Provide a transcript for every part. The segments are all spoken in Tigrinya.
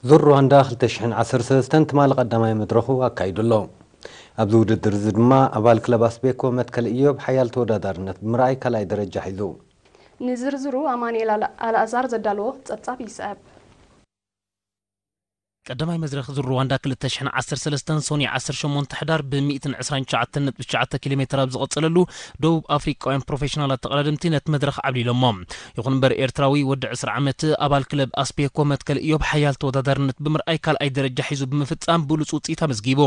ዙር ሩዋንዳ ክልተ ሽሕን ዓሰርተ ሰለስተን ትማሊ ቀዳማይ መድረኹ ኣካይዱ ኣሎ። ኣብዚ ውድድር እዚ ድማ ኣባል ክለብ ኣስቤኮ መትከል ኢዮብ ሓያል ተወዳዳርነት ብምርኣይ ካልኣይ ደረጃ ሒዙ። ንዝርዝሩ ኣማኑኤል ኣል-፣ ኣልኣዛር ዘዳለዎ ጸብጻብ ይስዕብ። ቀዳማይ መድረኽ ዙር ሩዋንዳ ክልተ ሽሕን ዓሰርተ ሰለስተን ሶኒ ዓሰርተ ሸሞንተ ሕዳር ብ ሚእትን ዕስራን ትሽዓተን ነጥቢ ትሽዓተ ኪሎ ሜትር ኣብ ዝቐጸለሉ፣ ደቡብ ኣፍሪቃውያን ፕሮፌሽናላት ተቐዳደምቲ ነቲ መድረኽ ዓብሊሎሞ። ይኹን እምበር፣ ኤርትራዊ ወዲ ዕስራ ዓመት ኣባል ክለብ ኣስቤኮ መትከል ኢዮብ ሓያል ተወዳዳርነት ብምርኣይ ካልኣይ ደረጃ ሒዙ ብምፍጻም ብሉጽ ውጽኢት ኣመዝጊቡ።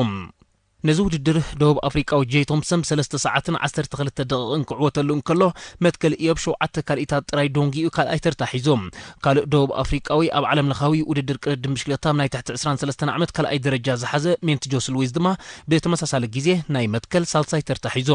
ነዚ ውድድር ደቡብ ኣፍሪቃዊ ጄይ ቶምሰን ሰለስተ ሰዓትን ዓሰርተ ክልተ ደቂቕን ክዕወተሉ እንከሎ፣ መትከል ኢዮብ ሸውዓተ ካልኢታት ጥራይ ዶንጊኡ ካልኣይ ተርታ ሒዙ። ካልእ ደቡብ ኣፍሪቃዊ ኣብ ዓለም ለኻዊ ውድድር ቅድድም ብሽክለታ ናይ ትሕቲ ዕስራን ሰለስተን ዓመት ካልኣይ ደረጃ ዝሓዘ ሜንት ጆስ ሉዊስ ድማ ብተመሳሳሊ ግዜ ናይ መትከል ሳልሳይ ተርታ ሒዙ።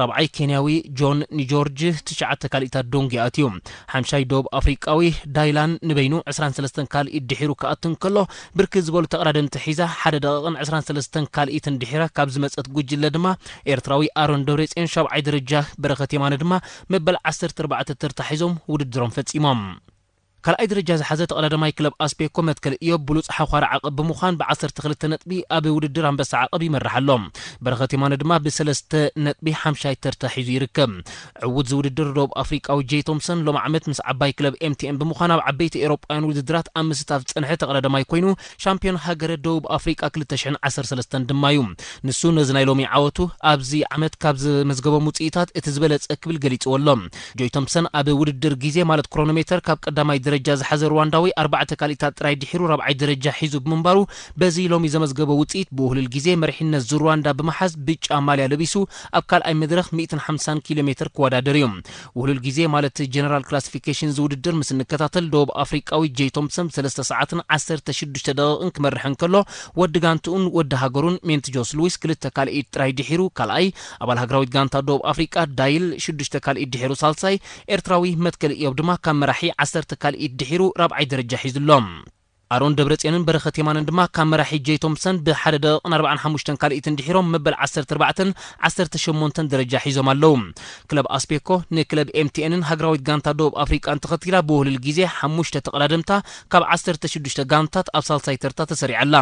ራብዓይ ኬንያዊ ጆን ኒጆርጅ ትሽዓተ ካልኢታት ዶንጊ ኣትዩ። ሓምሻይ ደቡብ ኣፍሪቃዊ ዳይላን ንበይኑ ዕስራን ሰለስተን ካልኢት ድሒሩ ክኣቱ እንከሎ፣ ብርክት ዝበሉ ተቐዳደምቲ ሒዛ ሓደ ደቂቕን ዕስራን ሰለስተን ካልኢትን ድሒራ ካብ ዝመጸት ጉጅለ ድማ ኤርትራዊ ኣሮን ደብረጽዮን ሻብዓይ ደረጃ፣ በረኸት የማነ ድማ መበል ዓሰርተ ኣርባዕተ ተርታ ሒዞም ውድድሮም ፈጺሞም። ካልኣይ ደረጃ ዝሓዘ ተቐዳዳማይ ክለብ ኣስቤኮ መትከል ኢዮብ ብሉጽ ሓዃሪ ዓቐብ ብምዃን ብዓሰርተ ክልተ ነጥቢ ኣብ ውድድር ኣንበሳ ዓቐብ ይመርሕ ኣሎ። በረኸት የማነ ድማ ብሰለስተ ነጥቢ ሓምሻይ ተርታ ሒዙ ይርከብ። ዕዉት ዝውድድር ደቡብ ኣፍሪቃዊ ጄይ ቶምሰን ሎም ዓመት ምስ ዓባይ ክለብ ኤምቲኤን ብምዃን ኣብ ዓበይቲ ኤውሮጳውያን ውድድራት ኣብ ምስታፍ ዝጸንሐ ተቐዳዳማይ ኮይኑ፣ ሻምፒዮን ሃገረ ደቡብ ኣፍሪቃ ክልተ ሽሕን ዓሰርተ ሰለስተን ድማ እዩ። ንሱ ነዚ ናይ ሎሚ ዓወቱ ኣብዚ ዓመት ካብ ዘመዝገቦም ውጽኢታት እቲ ዝበለጸ ክብል ገሊጽዎ ኣሎ። ጆይ ቶምሰን ኣብ ውድድር ግዜ ማለት ክሮኖሜተር ካብ ቀዳማይ ደረጃ ዝሓዘ ሩዋንዳዊ ኣርባዕተ ካልኢታት ጥራይ ድሒሩ ራብዓይ ደረጃ ሒዙ ብምንባሩ፣ በዚ ሎሚ ዘመዝገቦ ውጽኢት ብውህሉል ግዜ መሪሕነት ዙር ሩዋንዳ ብምሓዝ ብጫ ማልያ ለቢሱ ኣብ ካልኣይ መድረኽ ሚእትን ሓምሳን ኪሎ ሜትር ክወዳደር እዩ። ውህሉል ግዜ ማለት ጀነራል ክላሲፊኬሽን ዝውድድር ምስ እንከታተል፣ ደቡብ ኣፍሪቃዊ ጄይ ቶምሰን ሰለስተ ሰዓትን ዓሰርተ ሽዱሽተ ደቂቕን ክመርሕ እንከሎ፣ ወዲ ጋንትኡን ወዲ ሃገሩን ሜንት ጆስ ሉዊስ ክልተ ካልኢት ጥራይ ድሒሩ ካልኣይ፣ ኣባል ሃገራዊት ጋንታ ደቡብ ኣፍሪቃ ዳይል ሽዱሽተ ካልኢት ድሒሩ ሳልሳይ፣ ኤርትራዊ መትከል ኢዮብ ድማ ካብ መራሒ ዓሰርተ ካልኢት ድሒሩ ራብዓይ ደረጃ ሒዙ ኣሎ። ኣሮን ደብረጽዮንን በረኸት የማነን ድማ ካብ መራሒ ጄይ ቶምሰን ብሓደ ደቂቕን ኣርባዓን ሓሙሽተን ካልኢትን ድሒሮም መበል ዓሰርተ ኣርባዕተን ዓሰርተ ሸሞንተን ደረጃ ሒዞም ኣለዉ። ክለብ ኣስቤኮ ንክለብ ኤምቲኤንን ሃገራዊት ጋንታ ደቡብ ኣፍሪቃን ተኸቲላ ብውህሉል ግዜ ሓሙሽተ ተቐዳደምታ ካብ ዓሰርተ ሽዱሽተ ጋንታት ኣብ ሳልሳይ ተርታ ተሰሪዓ ኣላ።